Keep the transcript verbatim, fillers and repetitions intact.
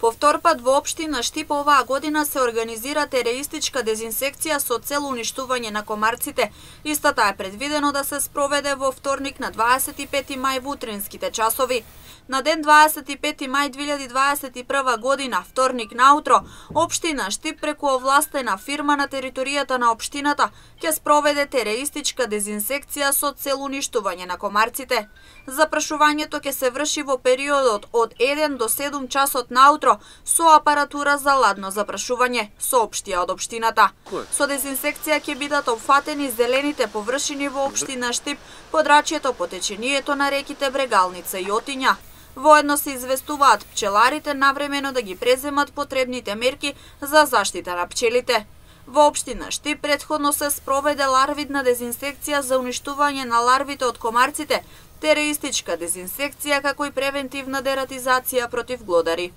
По втор пат во општина Штип оваа година се организира тереистичка дезинсекција со цел уништување на комарците. Истата е предвидено да се спроведе во вторник на дваесет и пети мај во утринските часови. На ден дваесет и пети мај две илјади дваесет и прва година, вторник наутро, општина Штип преку овластена фирма на територијата на општината ќе спроведе тереистичка дезинсекција со цел уништување на комарците. Запрашувањето ќе се врши во периодот од еден до седум часот наутро со апаратура за ладно запрашување, соопштија од општината. Со дезинсекција ќе бидат опфатени зелените површини во општина Штип, подрачјето по течението на реките Брегалница и Отиња. Воедно се известуваат пчеларите навремено да ги преземат потребните мерки за заштита на пчелите. Во општина Штип претходно се спроведе ларвидна дезинсекција за уништување на ларвите од комарците, тереистичка дезинсекција како и превентивна дератизација против глодари.